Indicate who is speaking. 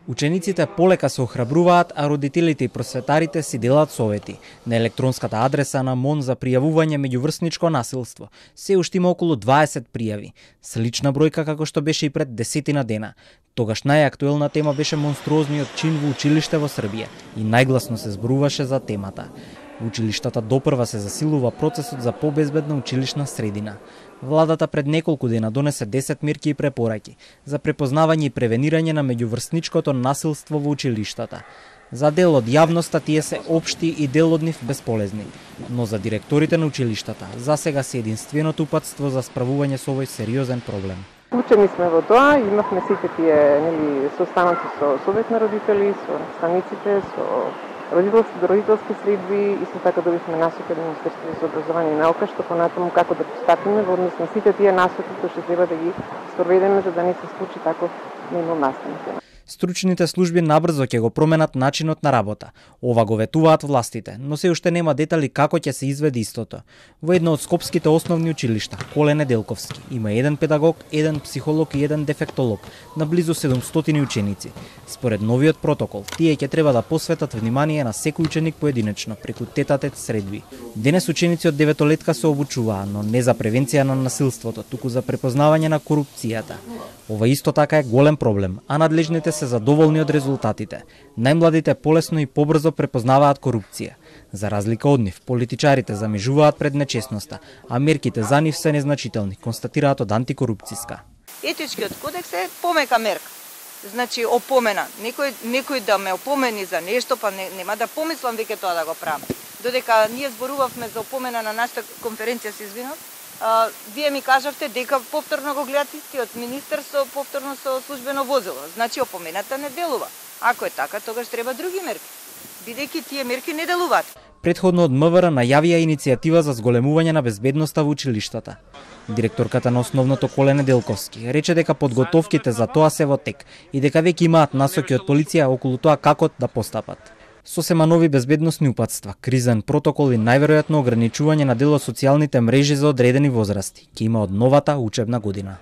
Speaker 1: Учениците полека се охрабруваат, а родителите и просветарите си делат совети. На електронската адреса на МОН за пријавување меѓуврсничко насилство се уште има околу 20 пријави. Слична бројка како што беше и пред 10 дена. Тогаш најактуелна тема беше монструозниот чин во училиште во Србија и најгласно се зборуваше за темата. Во училиштата допрва се засилува процесот за побезбедна училишна средина. Владата пред неколку дена донесе 10 мерки и препораки за препознавање и превенирање на меѓуврсничкото насилство во училиштата. За дел од јавноста тие се општи и дел од нив безполезни, но за директорите на училиштата засега се единственото упатство за справување со овој сериозен проблем.
Speaker 2: Учени сме во тоа, имавме сите тие состаноци со совет на родители, со наставниците, со родителски средби, исто така добивме насоки од Министерството за образование и наука, што понатаму како да постапиме во однос на сите тие насоки кои што треба да ги спроведеме за да не се случи таков минул настан.
Speaker 1: Стручните служби набрзо ќе го променат начинот на работа. Ова го ветуваат властите, но се уште нема детали како ќе се изведе истото. Во едно од скопските основни училишта, Коле Неделковски, има еден педагог, еден психолог и еден дефектолог на близу 700 ученици. Според новиот протокол, тие ќе треба да посветат внимание на секој ученик поединечно преку тет-а-тет средби. Денес ученици од 9-летка се обучуваа, но не за превенција на насилството, туку за препознавање на корупцијата. Ова исто така е голем проблем, а надлежните се задоволни од резултатите. Најмладите полесно и побрзо препознаваат корупција. За разлика од нив, политичарите замежуваат пред нечесноста, а мерките за нив се незначителни, констатираат од антикорупцијска.
Speaker 3: Етичкиот кодекс е помека мерка. Значи опомена. Некој да ме опомени за нешто, па нема да помислам веќе тоа да го правам. Додека ние зборувавме за опомена на нашата конференција, се извинав, вие ми кажавте дека повторно го гледате истиот министер со повторно со службено возило. Значи опомената не делува. Ако е така, тогаш треба други мерки. Бидејќи тие мерки не делуваат.
Speaker 1: Предходно од МВР најавија иницијатива за зголемување на безбедноста во училиштата. Директорката на основното Коле Неделковски рече дека подготовките за тоа се во тек и дека веќе имаат насоки од полиција околу тоа како да постапат. Сосема нови безбедносни упатства, кризен протокол и најверојатно ограничување на дел од социјалните мрежи за одредени возрасти ќе има од новата учебна година.